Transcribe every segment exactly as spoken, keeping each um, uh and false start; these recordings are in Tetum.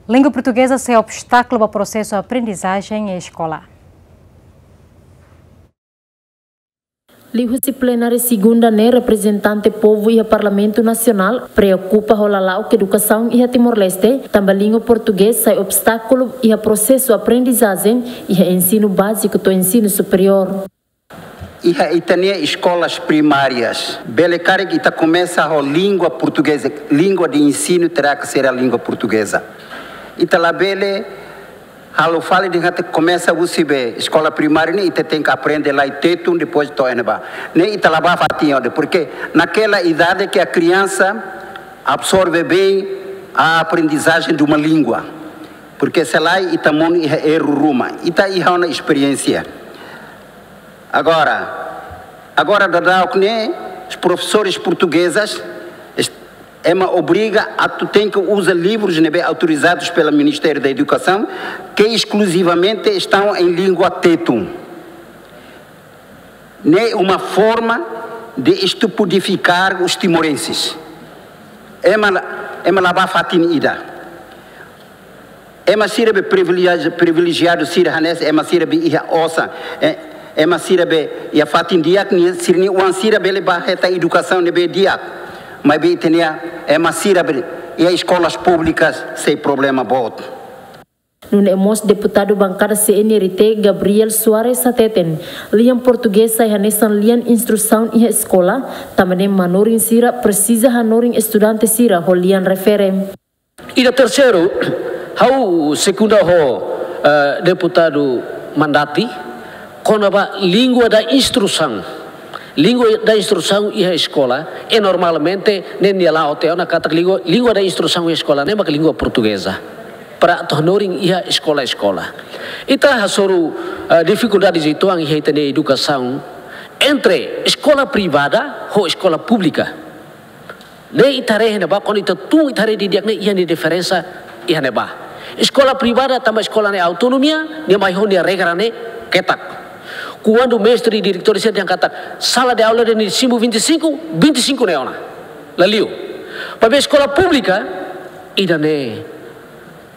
Língua portugeza sai obstákulu ba prosesu aprendizajen iha eskola. Liuhusi plenária segunda ne'e, reprezentante povu iha Parlamentu Nasionál preokupa ho lala'ok edukasaun iha Timor-Leste, tanba língua portugeza sai obstákulu iha prosesu aprendizajen iha ensinu báziku to'o ensinu superiór. Iha ita-nia eskolas primárias, bele karik ita komesa ho língua portugeza, língua de ensino terá que ser a língua portuguesa. Ita labele halo fali dehan katak komesa husi be eskola primária ne'e ita tenke aprende lai Tetun, depois to'o iha ne'ebá. Ne'e ita la bá fatin ona, porque naquela idade que a criança absorve bem a aprendizagem de uma língua. Porque se lae ita monu iha erru ruma, ita iha ona esperiénsia. Agora, agora daudauk ne'e, os professores portuguesas, est-, ema obriga atu tenke uza livrus ne'ebé autorizados pelo Ministério da Educação, que exclusivamente estão em língua Tetun. Ne'e uma forma de estupidificar os timorenses. Ema la, ema la bá fatin ida. Ema sira be privilegiadu, privilegiadu sira hanesan ema sira be iha osan, eh, ema sira be iha fatin di'ak nian, sira-nia oan sira bele bá hetan edukasaun ne'ebé di'ak. Maibé ita-nia ema sira be iha eskolas públikas sei problema boot. Nune'e mós deputadu bankada C N R T Gabriel Soares hateten, lian portugeza sai hanesan lian instrusaun iha eskola, tanba ne'e manorin sira presiza hanorin estudante sira ho lian refere. Ida terseiru, ha'u sekunda ho, eh, deputadu Mandati, kona-ba língua da instrusaun. Língua da instrusaun iha eskola, e normalmente, ne'e nia la'o tiha ona katak língua, língua da instrusaun iha eskola, ne'e maka língua portugeza. Para atu hanorin iha eskola-eskola. Ita hasoru, eh, difikuldades uitoan iha ita-nia edukasaun entre eskola privada ho eskola públika. Ne'e ita haree iha ne'ebá, kuandu ita tun ita haree didi'ak ne'e iha nia diferensa iha ne'ebá. Eskola privada tanba eskola ne'e autonomia, nia mai ho nia regra ne'e ketak. Kuandu mestre i diretór sira dehan katak sala de aula ida-ne'e simu vinte e cinco, vinte e cinco ne'e ona. La liu. Maibé eskola públika, ida-ne'e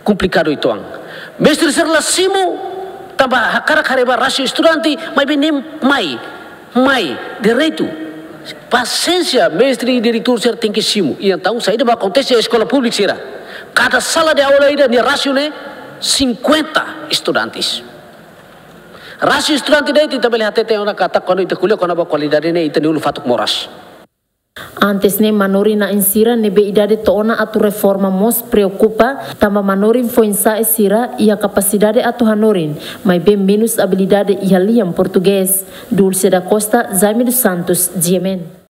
komplikadu uitoan. Mestre sira la simu, tanba hakarak haree ba rasio estudante, maibé ne'e mai, mai, direitu. Pasiénsia, mestre i diretór sira tenke simu. I entaun, saida mak akontese iha eskola públika sira. Kada sala de aula ida nia rasio ne'e cinquenta estudantes. Rasio estudante de'it ita bele hateten ona katak kuandu ita ko'alia kona-ba kualidade ne'e ita-nia ulun fatuk moras. Antes ne'e manorin-na'in sira ne'ebé idade to'o ona atu reforma mós preokupa, tanba manorin foin-sa'e sira iha kapasidade atu hanorin, maibé menus abilidade iha lian portugés. Dulce da Costa, Jaime dos Santos, G M N.